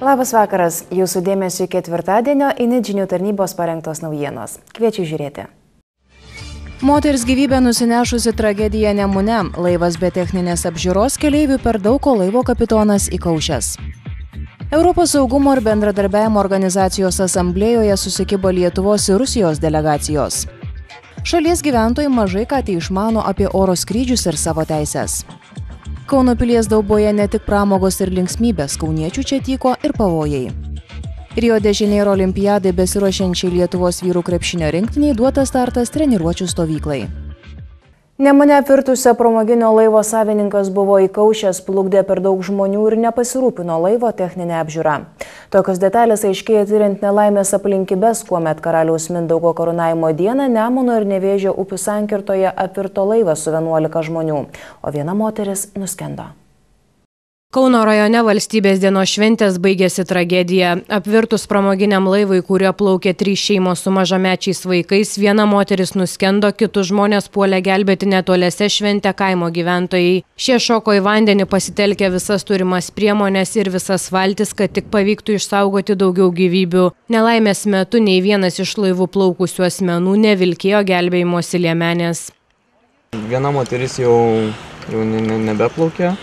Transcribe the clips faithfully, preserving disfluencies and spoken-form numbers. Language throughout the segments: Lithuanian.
Labas vakaras, jūsų dėmesio ketvirtadienio Init žinių tarnybos parengtos naujienos. Kviečiu žiūrėti. Moters gyvybę nusinešusi tragedija Nemune. Laivas be techninės apžiūros, keleivių per daug, o laivo kapitonas įkaušęs. Europos saugumo ir bendradarbiavimo organizacijos asamblėjoje susikibo Lietuvos ir Rusijos delegacijos. Šalies gyventojai mažai ką tai išmano apie oro skrydžius ir savo teises. Kauno Pilies Dauboje ne tik pramogos ir linksmybės, kauniečių čia tyko ir pavojai. Rio de Janeiro olimpiadai besiruošiančiai Lietuvos vyrų krepšinio rinktiniai duotas startas treniruočių stovyklai. Nemune apvirtusio pramoginio laivo savininkas buvo įkaušęs, plukdė per daug žmonių ir nepasirūpino laivo techninę apžiūrą. Tokios detalės aiškėja tiriant nelaimės aplinkybes, kuomet Karaliaus Mindaugo karūnavimo dieną Nemuno ir Nevėžio upių sankirtoje apvirto laivas su vienuolika žmonių, o viena moteris nuskendo. Kauno rajone valstybės dienos šventės baigėsi tragedija. Apvirtus pramoginiam laivui, kuriuo plaukė trys šeimos su mažamečiais vaikais, viena moteris nuskendo, kitus žmonės puolė gelbėti netoliese šventę kaimo gyventojai. Šie šoko į vandenį pasitelkė visas turimas priemonės ir visas valtis, kad tik pavyktų išsaugoti daugiau gyvybių. Nelaimės metu nei vienas iš laivų plaukusių asmenų nevilkėjo gelbėjimosi liemenės. Viena moteris jau, jau nebeplaukė.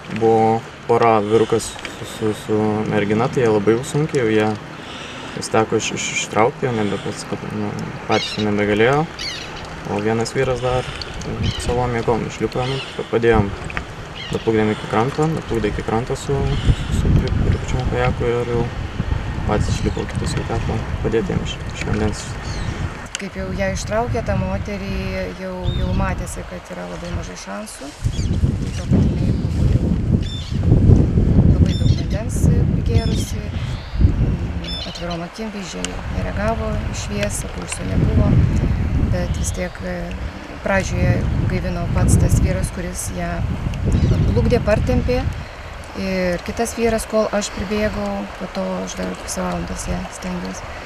Buvo pora vyrukas su, su, su mergina, tai jie labai sunkiai, jau jie vis teko iš, iš, ištraukti, jau nebepats, nu, patys nebegalėjo, o vienas vyras dar savom jėgom išlipo, padėjom, daplukdėm iki kranto, daplukdė iki kranto su, su pripučiam kajaku ir jau patys išlipo, kitus jau teko padėti jiem iš, iš vandens. Kaip jau ją ištraukė, tą moterį jau, jau matėsi, kad yra labai mažai šansų. To, kad jinai buvo jau labai daug vandens prigėrusi, atvirom akim vyzdžiai nereagavo į šviesą, pulso nebuvo, bet vis tiek pradžioje gaivino pats tas vyras, kuris ją plukdė, partempė. Ir kitas vyras, kol aš pribėgau, po to aš dar pusę valandos ją stengiausi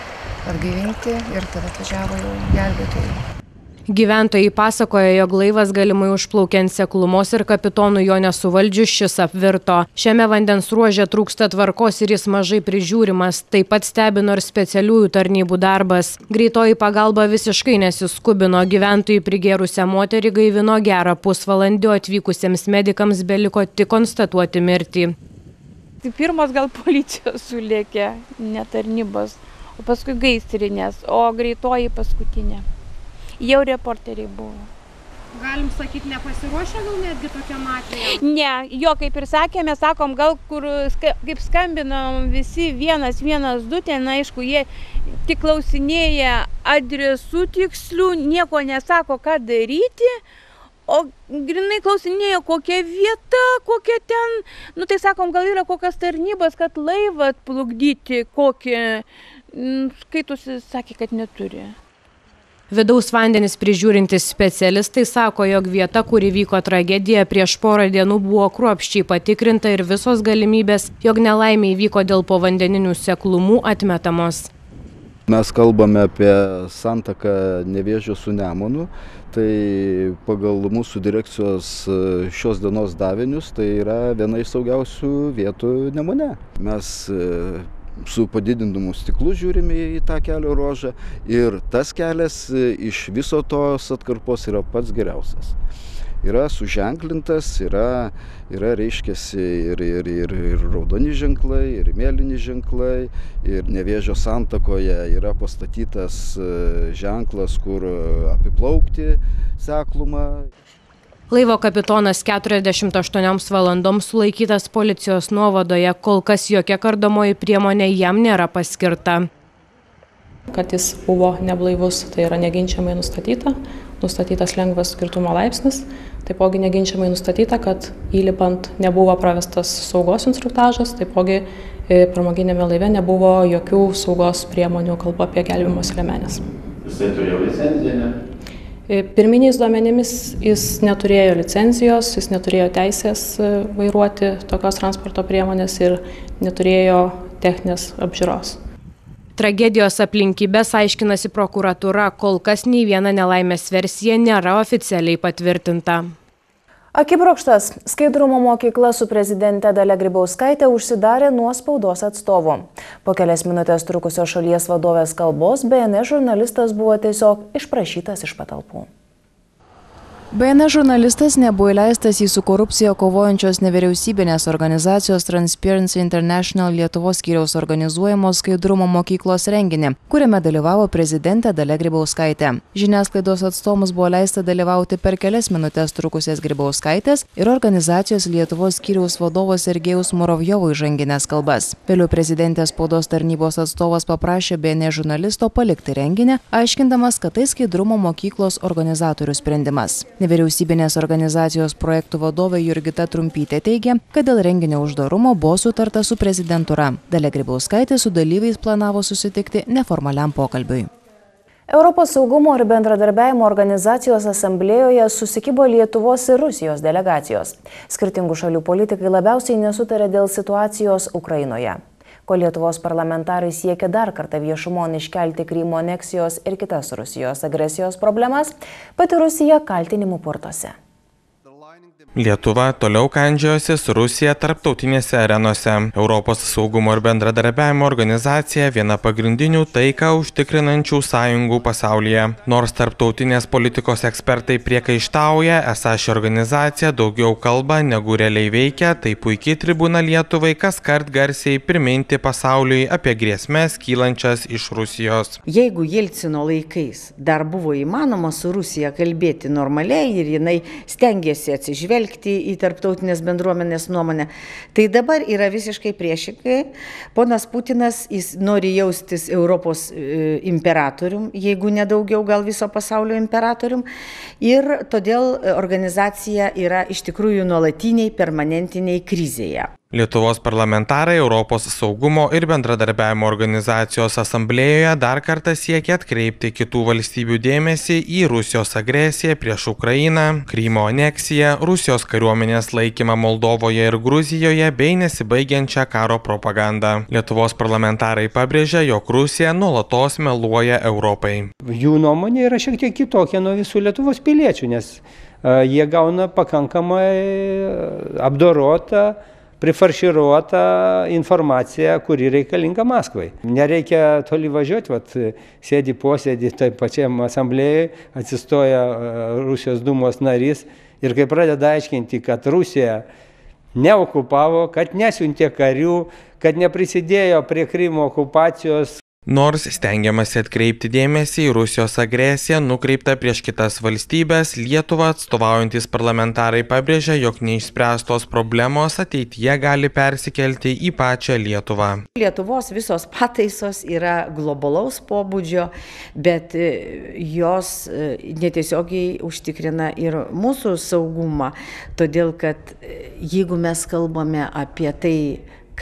atgaivinti ir tada atvažiavo jau gelbėtojai. Gyventojai pasakoja, jog laivas galimai užplaukė ant seklumos ir kapitonų jo nesuvaldžius šis apvirto. Šiame vandens ruože trūksta tvarkos ir jis mažai prižiūrimas. Taip pat stebino ir specialiųjų tarnybų darbas. Greitoji pagalba visiškai nesiskubino. Gyventojai prigėrusią moterį gaivino gerą pusvalandį, o atvykusiems medikams beliko tik konstatuoti mirtį. Tai pirmas gal policijos sulėkė, ne tarnybos, o paskui gaisrinės, o greitoji paskutinė. Jau reporteriai buvo. Galim sakyti, nepasiruošę gal netgi tokiam atvejui? Ne, jo, kaip ir sakėme, sakom, gal kur, kaip skambinom visi vienas, vienas, du, ten aišku, jie tik klausinėja adresų tikslių, nieko nesako, ką daryti, o grinai klausinėja, kokia vieta, kokia ten, nu tai sakom, gal yra kokias tarnybas, kad laivą atplukdyti, kokį, skaitusi, sakė, kad neturi. Vidaus vandenis prižiūrintys specialistai sako, jog vieta, kur įvyko tragedija, prieš porą dienų buvo kruopščiai patikrinta ir visos galimybės, jog nelaimė įvyko dėl povandeninių seklumų, atmetamos. Mes kalbame apie santaką Nevėžio su Nemunu, tai pagal mūsų direkcijos šios dienos davinius tai yra viena iš saugiausių vietų Nemune. Mes su padidindamu stiklu žiūrime į tą kelio ruožą ir tas kelias iš viso tos atkarpos yra pats geriausias. Yra suženklintas, yra, yra reiškiasi ir, ir, ir, ir raudoni ženklai, ir mėlyni ženklai, ir Nevėžio santakoje yra pastatytas ženklas, kur apiplaukti seklumą. Laivo kapitonas keturiasdešimt aštuonioms valandoms sulaikytas policijos nuovadoje, kol kas jokia kardomoji priemonė jam nėra paskirta. Kad jis buvo neblaivus, tai yra neginčiamai nustatyta, nustatytas lengvas girtumo laipsnis, taipogi neginčiamai nustatyta, kad įlipant nebuvo pravestas saugos instruktažas, taipogi pramoginėme laive nebuvo jokių saugos priemonių, kalbu apie gelbėjimosi liemenes. Jisai turėjo licenciją, ne? Pirminiais duomenimis jis neturėjo licencijos, jis neturėjo teisės vairuoti tokios transporto priemonės ir neturėjo techninės apžiūros. Tragedijos aplinkybės aiškinasi prokuratūra, kol kas nei viena nelaimės versija nėra oficialiai patvirtinta. Akibrokštas. Skaidrumo mokykla su prezidente Dalia Grybauskaite užsidarė nuo spaudos atstovų. Po kelias minutės trukusio šalies vadovės kalbos B N S žurnalistas buvo tiesiog išprašytas iš patalpų. B N S žurnalistas nebuvo įleistas į su korupcija kovojančios nevyriausybinės organizacijos Transparency International Lietuvos skyriaus organizuojamos skaidrumo mokyklos renginį, kuriame dalyvavo prezidentė Dalia Grybauskaitė. Žiniasklaidos atstovams buvo leista dalyvauti per kelias minutės trukusias Grybauskaitės ir organizacijos Lietuvos skyriaus vadovo Sergejaus Muravjovo įžanginės kalbas. Vėliau prezidentės spaudos tarnybos atstovas paprašė B N S žurnalisto palikti renginį, aiškindamas, kad tai skaidrumo mokyklos organizatorių sprendimas. Nevyriausybinės organizacijos projektų vadovė Jurgita Trumpytė teigia, kad dėl renginio uždarumo buvo sutarta su prezidentūra. Dalia Grybauskaitė su dalyviais planavo susitikti neformaliam pokalbiui. Europos saugumo ir bendradarbiavimo organizacijos asamblėjoje susikibo Lietuvos ir Rusijos delegacijos. Skirtingų šalių politikai labiausiai nesutarė dėl situacijos Ukrainoje. Ko Lietuvos parlamentarai siekia dar kartą viešumon iškelti Krymo aneksijos ir kitas Rusijos agresijos problemas, pati Rusija kaltinimų purtose. Lietuva toliau kandžiojosi su Rusija tarptautinėse arenose. Europos saugumo ir bendradarbiavimo organizacija viena pagrindinių taiką užtikrinančių sąjungų pasaulyje. Nors tarptautinės politikos ekspertai priekaištauja, esą ši organizacija daugiau kalba negu realiai veikia, tai puikiai tribūna Lietuvai kaskart garsiai priminti pasauliui apie grėsmes kylančias iš Rusijos. Jeigu Jelcino laikais dar buvo įmanoma su Rusija kalbėti normaliai ir jinai stengiasi atsižvelgti į tarptautinės bendruomenės nuomonę, tai dabar yra visiškai priešingai. Ponas Putinas jis nori jaustis Europos e, imperatorium, jeigu nedaugiau gal viso pasaulio imperatorium, ir todėl organizacija yra iš tikrųjų nuolatiniai, permanentiniai krizėje. Lietuvos parlamentarai Europos saugumo ir bendradarbiavimo organizacijos asamblėjoje dar kartą siekia atkreipti kitų valstybių dėmesį į Rusijos agresiją prieš Ukrainą, Krymo aneksiją, Rusijos kariuomenės laikymą Moldovoje ir Gruzijoje bei nesibaigiančią karo propagandą. Lietuvos parlamentarai pabrėžia, jog Rusija nuolatos meluoja Europai. Jų nuomonė yra šiek tiek kitokia nuo visų Lietuvos piliečių, nes uh, jie gauna pakankamai apdorotą, prifarširuota informacija, kuri reikalinga Maskvai. Nereikia toli važiuoti, vat, sėdi posėdį taip pačiam asamblėjai, atsistoja Rusijos dūmos narys ir kai pradeda aiškinti, kad Rusija neokupavo, kad nesiuntė karių, kad neprisidėjo prie Krymo okupacijos. Nors stengiamasi atkreipti dėmesį į Rusijos agresiją nukreiptą prieš kitas valstybės, Lietuvą atstovaujantis parlamentarai pabrėžia, jog neišspręstos problemos ateityje gali persikelti į pačią Lietuvą. Lietuvos visos pataisos yra globalaus pobūdžio, bet jos netiesiogiai užtikrina ir mūsų saugumą, todėl kad jeigu mes kalbame apie tai,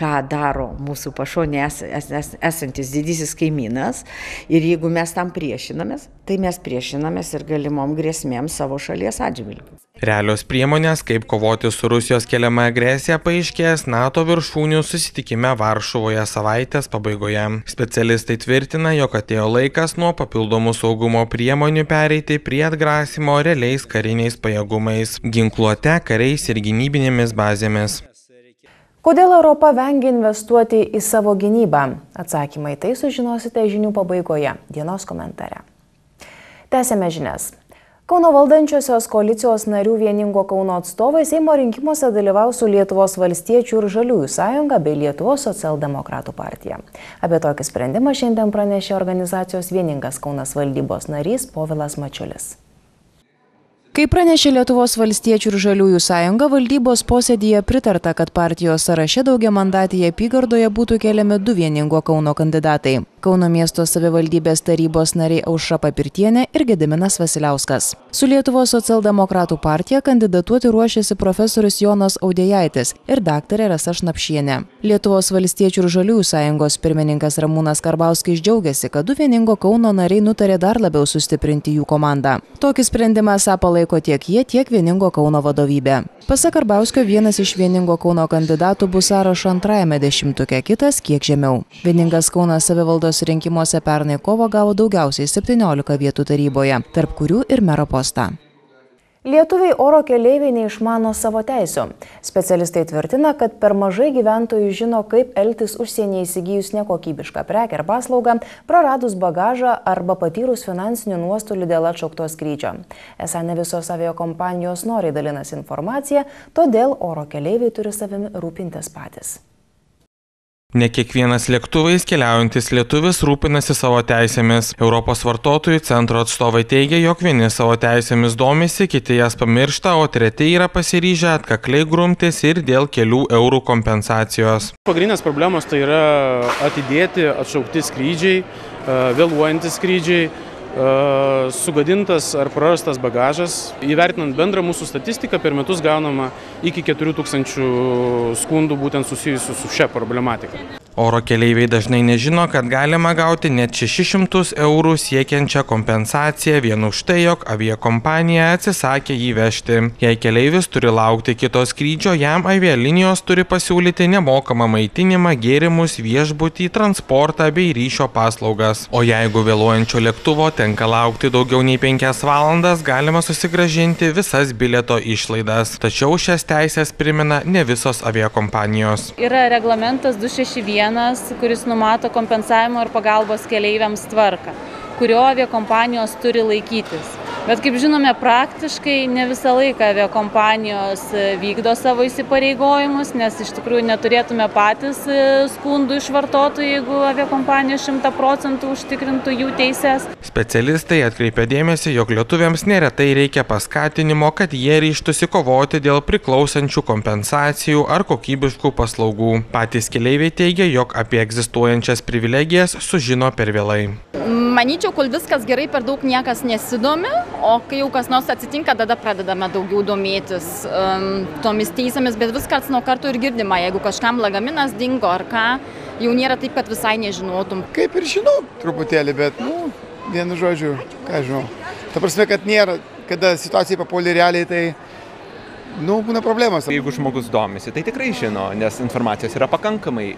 ką daro mūsų pašonė es, es, es, esantis didysis kaimynas, ir jeigu mes tam priešinamės, tai mes priešinamės ir galimom grėsmėm savo šalies atžvilgiu. Realios priemonės, kaip kovoti su Rusijos keliama agresija, paaiškės NATO viršūnių susitikime Varšuvoje savaitės pabaigoje. Specialistai tvirtina, jog atėjo laikas nuo papildomų saugumo priemonių pereiti prie atgrasimo realiais kariniais pajėgumais, ginkluote, kariais ir gynybinėmis bazėmis. Kodėl Europa vengia investuoti į savo gynybą? Atsakymai tai sužinosite žinių pabaigoje, dienos komentare. Tęsėme žinias. Kauno valdančiosios koalicijos narių Vieningo Kauno atstovai Seimo rinkimuose dalyvaus su Lietuvos valstiečių ir Žaliųjų sąjunga bei Lietuvos socialdemokratų partija. Apie tokį sprendimą šiandien pranešė organizacijos Vieningas Kaunas valdybos narys Povilas Mačiulis. Kaip pranešė Lietuvos valstiečių ir Žaliųjų sąjunga, valdybos posėdyje pritarta, kad partijos sąraše daugiamandatėje apygardoje būtų keliami du Vieningo Kauno kandidatai. Kauno miesto savivaldybės tarybos nariai Aušra Papirtienė ir Gediminas Vasiliauskas. Su Lietuvos socialdemokratų partija kandidatuoti ruošiasi profesorius Jonas Audėjaitis ir daktarė Rasa Šnapšienė. Lietuvos valstiečių ir Žaliųjų sąjungos pirmininkas Ramūnas Karbauskis džiaugiasi, kad du Vieningo Kauno nariai nutarė dar labiau sustiprinti jų komandą. Tokį sprendimą esą palaiko tiek jie, tiek Vieningo Kauno vadovybė. Pasak Karbauskio, vienas iš Vieningo Kauno kandidatų bus sąrašo antrajame dešimtuke, kitas kiek žemiau. Vieningas Kaunas savivaldos rinkimuose pernai kovo gavo daugiausiai septyniolika vietų taryboje, tarp kurių ir mero postą. Lietuviai oro keleiviai neišmano savo teisių. Specialistai tvirtina, kad per mažai gyventojų žino, kaip elgtis užsienyje įsigijus nekokybišką prekę ar paslaugą, praradus bagažą arba patyrus finansinių nuostolių dėl atšaukto skrydžio. Esą ne visos aviakompanijos noriai dalinasi informaciją, todėl oro keleiviai turi savimi rūpintis patys. Ne kiekvienas lėktuvais keliaujantis lietuvis rūpinasi savo teisėmis. Europos vartotojų centro atstovai teigia, jog vieni savo teisėmis domisi, kiti jas pamiršta, o treti yra pasiryžę atkakliai grumtis ir dėl kelių eurų kompensacijos. Pagrindinės problemos tai yra atidėti, atšaukti skrydžiai, vėluojantys skrydžiai, sugadintas ar prarastas bagažas. Įvertinant bendrą mūsų statistiką, per metus gaunama iki keturių tūkstančių skundų būtent susijusių su šia problematika. Oro keleiviai dažnai nežino, kad galima gauti net šešis šimtus eurų siekiančią kompensaciją vien už tai, jog aviakompanija atsisakė jį vežti. Jei keleivis turi laukti kito skrydžio, jam avialinijos turi pasiūlyti nemokamą maitinimą, gėrimus, viešbutį, transportą bei ryšio paslaugas. O jeigu vėluojančio lėktuvo tenka laukti daugiau nei penkias valandas, galima susigrąžinti visas bilieto išlaidas. Tačiau šias teisės primena ne visos aviakompanijos. Yra reglamentas du šeši vienas, kuris numato kompensavimo ir pagalbos keleiviams tvarką, kurio aviakompanijos turi laikytis. Bet kaip žinome, praktiškai ne visą laiką aviakompanijos vykdo savo įsipareigojimus, nes iš tikrųjų neturėtume patys skundų iš vartotojų, jeigu aviakompanija šimtą procentų užtikrintų jų teises. Specialistai atkreipia dėmesį, jog lietuviams neretai reikia paskatinimo, kad jie ryžtųsi kovoti dėl priklausančių kompensacijų ar kokybiškų paslaugų. Patys keleiviai teigia, jog apie egzistuojančias privilegijas sužino per vėlai. Manyčiau, kol viskas gerai, per daug niekas nesidomi, o kai jau kas nors atsitinka, tada pradedame daugiau domėtis um, tomis teisėmis, bet vis karts nuo karto ir girdima, jeigu kažkam lagaminas dingo ar ką, jau nėra taip, kad visai nežinotum. Kaip ir žinau truputėlį, bet, nu, vienu žodžiu, ką žinau. Ta prasme, kad nėra, kada situacija papuolė realiai, tai, nu, būna problemas. Jeigu žmogus domisi, tai tikrai žino, nes informacijos yra pakankamai.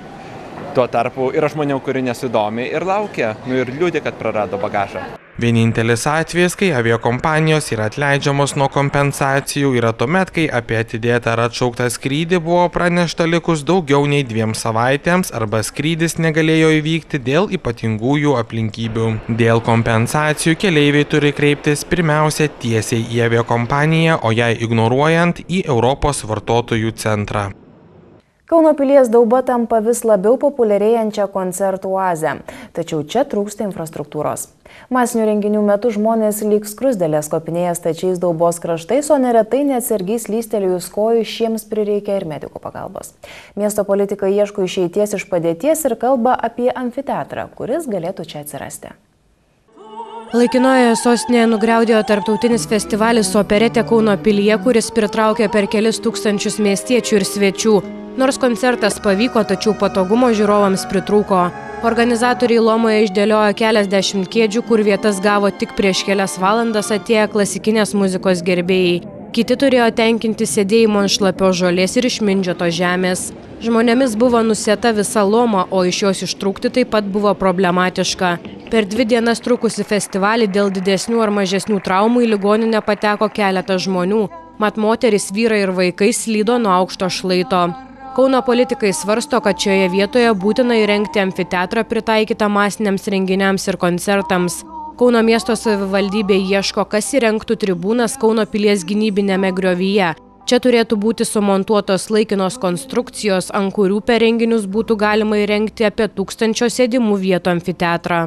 Tuo tarpu yra žmonių, kurie nesidomi ir laukia, nu ir liūdė, kad prarado bagažą. Vienintelis atvejis, kai aviakompanijos yra atleidžiamos nuo kompensacijų, yra tuomet, kai apie atidėtą ar atšauktą skrydį buvo pranešta likus daugiau nei dviem savaitėms arba skrydis negalėjo įvykti dėl ypatingųjų aplinkybių. Dėl kompensacijų keleiviai turi kreiptis pirmiausia tiesiai į aviakompaniją, o jai ignoruojant į Europos vartotojų centrą. Kauno pilies dauba tampa vis labiau populiarėjančią koncertų oazę, tačiau čia trūksta infrastruktūros. Masinių renginių metu žmonės lyg skruzdėlės kopinėja stačiais daubos kraštais, o neretai neatsargiai slystelėjus kojų šiems prireikia ir medikų pagalbos. Miesto politikai ieško išeities iš padėties ir kalba apie amfiteatrą, kuris galėtų čia atsirasti. Laikinojoje sostinėje nugriaudėjo tarptautinis festivalis Operetė Kauno pilyje, kuris pritraukė per kelis tūkstančius miestiečių ir svečių. Nors koncertas pavyko, tačiau patogumo žiūrovams pritrūko. Organizatoriai Lomoje išdėliojo keliasdešimt kėdžių, kur vietas gavo tik prieš kelias valandas atėję klasikinės muzikos gerbėjai. Kiti turėjo tenkinti sėdėjimo ant šlapios žolės ir išmindžiotos žemės. Žmonėmis buvo nusėta visa Loma, o iš jos ištrūkti taip pat buvo problematiška. Per dvi dienas trukusi festivalį dėl didesnių ar mažesnių traumų į ligoninę pateko keletas žmonių. Mat moteris, vyrai ir vaikai slydo nuo aukšto šlaito. Kauno politikai svarsto, kad šioje vietoje būtina įrengti amfiteatrą pritaikytą masiniams renginiams ir koncertams. Kauno miesto savivaldybė ieško, kas įrengtų tribūnas Kauno pilies gynybinėme griovyje. Čia turėtų būti sumontuotos laikinos konstrukcijos, ant kurių per renginius būtų galima įrengti apie tūkstančio sėdimų vietų amfiteatrą.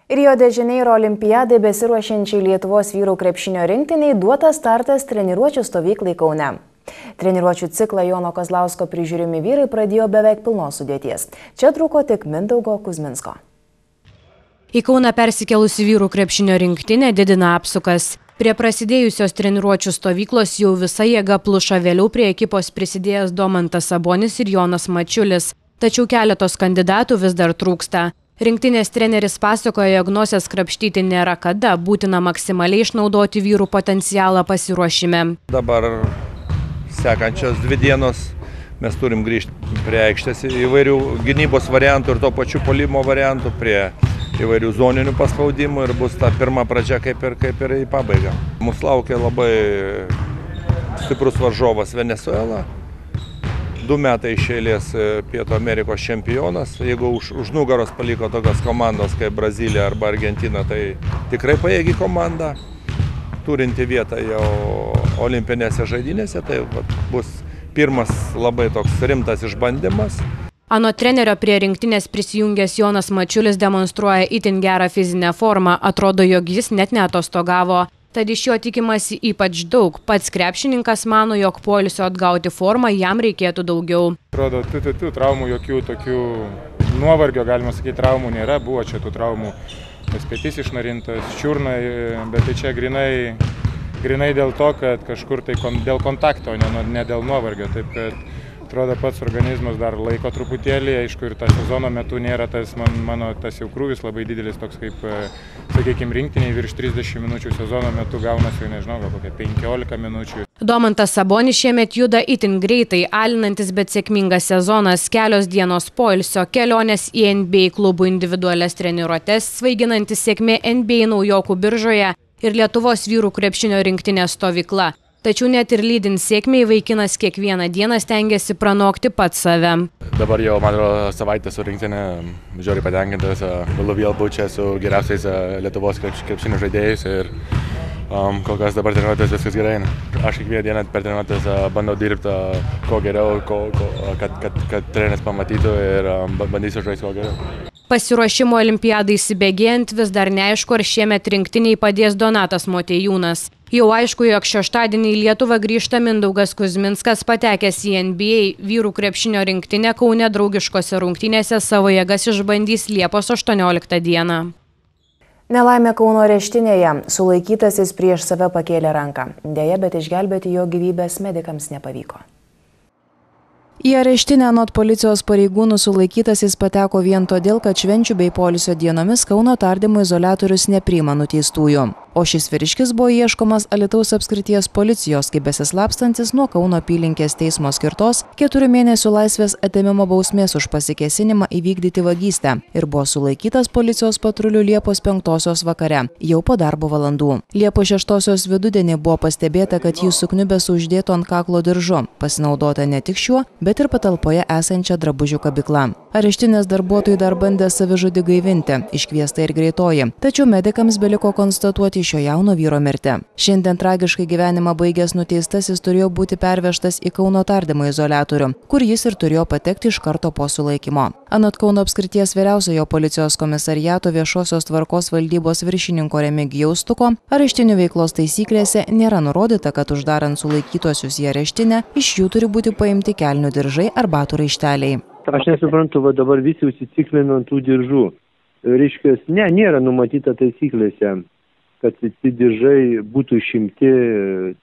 Rio de Janeiro olimpiadai besiruošiančiai Lietuvos vyrų krepšinio rinktiniai duotas startas treniruočių stovyklai Kaune. Treniruočių ciklą Jono Kazlausko prižiūrimi vyrai pradėjo beveik pilnos sudėties. Čia trūko tik Mindaugo Kuzminsko. Į Kauną persikėlusi vyrų krepšinio rinktinė didina apsukas. Prie prasidėjusios treniruočių stovyklos jau visa jėga pluša, vėliau prie ekipos prisidėjęs Domantas Sabonis ir Jonas Mačiulis. Tačiau keletos kandidatų vis dar trūksta. Rinktinės treneris pasakoja, jog nosies krapštyti nėra kada, būtina maksimaliai išnaudoti vyrų potencialą pasiruošime. Dabar sekančios dvi dienos mes turim grįžti prie aikštės įvairių gynybos variantų ir to pačių puolimo variantų, prie įvairių zoninių paspaudimų ir bus ta pirma pradžia kaip ir, kaip ir į pabaigą. Mūsų laukia labai stiprus varžovas Venesuela. Du metai iš eilės Pietų Amerikos čempionas. Jeigu už, už nugaros paliko tokios komandos kaip Brazilija arba Argentina, tai tikrai pajėgi komanda, turinti vietą jau olimpinėse žaidynėse. Tai vat, bus pirmas labai toks rimtas išbandymas. Anot trenerio prie rinktinės prisijungęs Jonas Mačiulis demonstruoja itin gerą fizinę formą. Atrodo, jog jis net neatostogavo. Tad iš jo tikimasi ypač daug. Pats krepšininkas mano, jog poilsio atgauti formą jam reikėtų daugiau. Atrodo, tų, tų, tų traumų, jokių tokių nuovargio, galima sakyti, traumų nėra. Buvo čia tų traumų, tas petys išnarintas, čiurna, bet tai čia grinai, grinai dėl to, kad kažkur tai kon, dėl kontakto, ne, ne dėl nuovargio. Taip, kad atrodo, pats organizmas dar laiko truputėlį, aišku, ir tą sezono metu nėra tas, man, mano tas jau krūvis labai didelis, toks kaip, sakykime, rinktiniai virš trisdešimt minučių sezono metu gaunasi, nežinau, gal kokia penkiolika minučių. Domantas Sabonis šiemet juda itin greitai, alinantis, bet sėkmingas sezonas, kelios dienos poilsio, kelionės į N B A klubų individualias treniruotes, svaiginantis sėkmė N B A naujokų biržoje ir Lietuvos vyrų krepšinio rinktinės stovykla. Tačiau net ir lydint sėkmei vaikinas kiekvieną dieną stengiasi pranokti pats save. Dabar jau, man atrodo, savaitę su rinktinė, žiauriai patenkintas, galiu vėl būti čia su geriausiais Lietuvos krepšinio žaidėjais ir um, kol kas dabar treniruotės viskas gerai. Aš kiekvieną dieną per treniruotės bandau dirbti kuo geriau, ko, ko, kad, kad, kad treneris pamatytų ir um, bandysiu žaisti kuo geriau. Pasiruošimo olimpiadai įsibėgėjant vis dar neaišku, ar šiemet rinktiniai padės Donatas Motiejūnas. Jau aišku, jog šeštadienį į Lietuvą grįžta Mindaugas Kuzminskas, patekęs į N B A vyrų krepšinio rinktinę Kaune draugiškose rungtynėse savo jėgas išbandys Liepos aštuonioliktą dieną. Nelaimė Kauno areštinėje. Sulaikytasis prieš save pakėlė ranką. Deja, bet išgelbėti jo gyvybės medikams nepavyko. Į areštinę anot policijos pareigūnų sulaikytasis pateko vien todėl, kad švenčių bei poilsio dienomis Kauno tardymo izoliatorius nepriima nuteistųjų. O šis vyriškis buvo ieškomas Alytaus apskrities policijos, kaip besislapstantis nuo Kauno apylinkės teismo skirtos keturių mėnesių laisvės atėmimo bausmės už pasikėsinimą įvykdyti vagystę ir buvo sulaikytas policijos patrulių Liepos penktosios vakare, jau po darbo valandų. Liepos šeštosios vidudienį buvo pastebėta, kad jis sukniubęs uždėto ant kaklo diržu, pasinaudota ne tik šiuo, bet ir patalpoje esančią drabužių kabyklą. Areštinės darbuotojai dar bandė savižudį gaivinti, iškviesta ir greitoji, tačiau medikams beliko konstatuoti šio jauno vyro mirtį. Šiandien tragiškai gyvenimą baigęs nuteistasis turėjo būti pervežtas į Kauno tardymo izoliatorių, kur jis ir turėjo patekti iš karto po sulaikymo. Anot Kauno apskrities vyriausiojo policijos komisariato viešosios tvarkos valdybos viršininko Remigijaus Stuko, areštinių veiklos taisyklėse nėra nurodyta, kad uždarant sulaikytuosius į areštinę, iš jų turi būti paimti kelnių diržai ar batų raišteliai. Aš nesuprantu, va dabar visi užsiciklina ant tų diržų. Reiškia, ne, nėra numatyta taisyklėse, kad tie diržai būtų išimti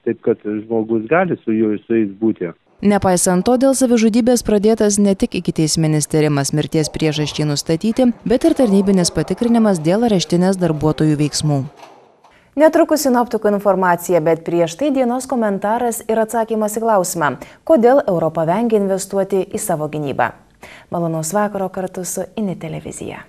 taip, kad žmogus gali su juo su jais būti. Nepaisant to, dėl savižudybės pradėtas ne tik ikiteisminis tyrimas mirties priežasčiai nustatyti, bet ir tarnybinis patikrinimas dėl areštinės darbuotojų veiksmų. Netrukus sinoptikų informacija, bet prieš tai dienos komentaras ir atsakymas į klausimą, kodėl Europa vengia investuoti į savo gynybą. Malonaus vakaro kartu su I N I televizija.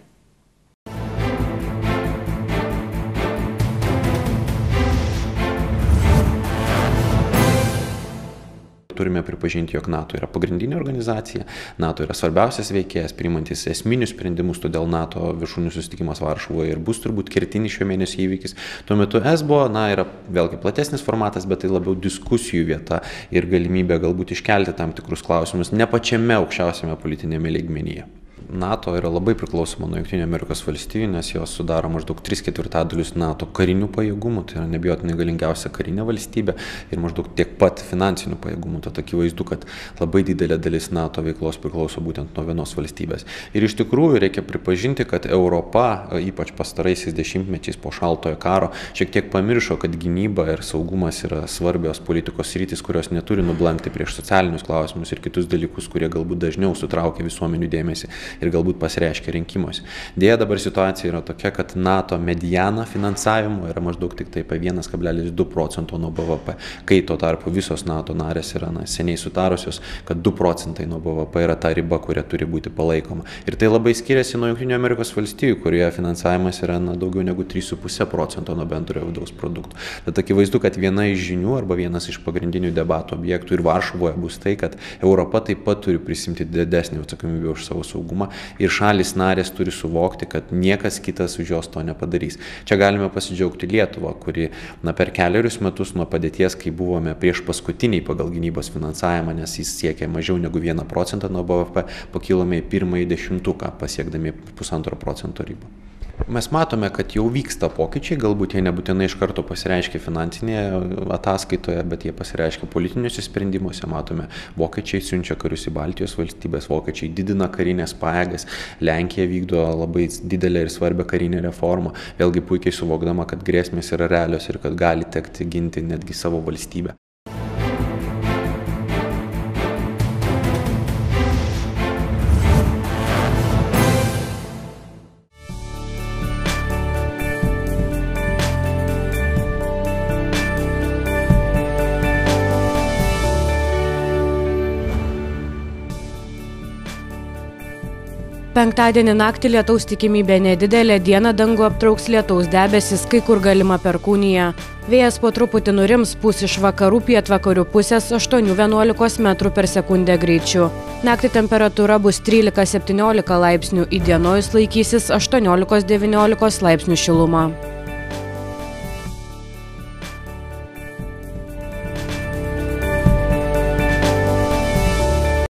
Turime pripažinti, jog NATO yra pagrindinė organizacija, NATO yra svarbiausias veikėjas, priimantis esminius sprendimus, todėl NATO viršūnių susitikimas Varšuvoje ir bus turbūt kertinis šio mėnesio įvykis. Tuo metu E S B O, na, yra vėlgi platesnis formatas, bet tai labiau diskusijų vieta ir galimybė galbūt iškelti tam tikrus klausimus ne pačiame aukščiausiame politinėme lygmenyje. NATO yra labai priklausoma nuo Jungtinių Amerikos valstijų, nes jos sudaro maždaug tris ketvirtadalius NATO karinių pajėgumų, tai yra neabejotinai galingiausia karinė valstybė ir maždaug tiek pat finansinių pajėgumų, tad akivaizdu, kad labai didelė dalis NATO veiklos priklauso būtent nuo vienos valstybės. Ir iš tikrųjų reikia pripažinti, kad Europa, ypač pastaraisiais dešimtmečiais po šaltojo karo, šiek tiek pamiršo, kad gynyba ir saugumas yra svarbios politikos sritys, kurios neturi nublankti prieš socialinius klausimus ir kitus dalykus, kurie galbūt dažniau sutraukia visuomenių dėmesį. ir galbūt pasireiškia rinkimuose. Dėja, dabar situacija yra tokia, kad NATO mediana finansavimo yra maždaug tik tai apie vienas kablelis du procento nuo B V P, kai tuo tarpu visos NATO narės yra na, seniai sutarusios, kad du procentai nuo B V P yra ta riba, kuria turi būti palaikoma. Ir tai labai skiriasi nuo Junktinių Amerikos valstijų, kurioje finansavimas yra na, daugiau negu trys su puse procento nuo bendrojo vidaus produkto. Tad akivaizdu, kad viena iš žinių arba vienas iš pagrindinių debatų objektų ir Varšuvoje bus tai, kad Europa taip pat turi prisimti didesnį atsakomybę už savo saugumą ir šalis narės turi suvokti, kad niekas kitas už jos to nepadarys. Čia galime pasidžiaugti Lietuvą, kuri na, per keliarius metus nuo padėties, kai buvome prieš paskutiniai pagal gynybos finansavimą, nes jis siekia mažiau negu vieną procentą nuo B V P, pakilome į pirmąjį dešimtuką, pasiekdami pusantro procento ribą. Mes matome, kad jau vyksta pokyčiai, galbūt jie nebūtinai iš karto pasireiškia finansinėje ataskaitoje, bet jie pasireiškia politiniuose sprendimuose. Matome, vokiečiai siunčia karius į Baltijos valstybės, vokiečiai didina karinės pajėgas, Lenkija vykdo labai didelę ir svarbią karinę reformą, vėlgi puikiai suvokdama, kad grėsmės yra realios ir kad gali tekti ginti netgi savo valstybę. Penktadienį naktį lietaus tikimybė nedidelė, dieną dangų aptrauks lietaus debesis, kai kur galima perkūnija. Vėjas po truputį nurims, pūs iš vakarų pietvakarių pusės aštuonių vienuolikos metrų per sekundę greičiu. Naktį temperatūra bus trylika septyniolika laipsnių, įdienojus laikysis aštuoniolikos devyniolikos laipsnių šiluma.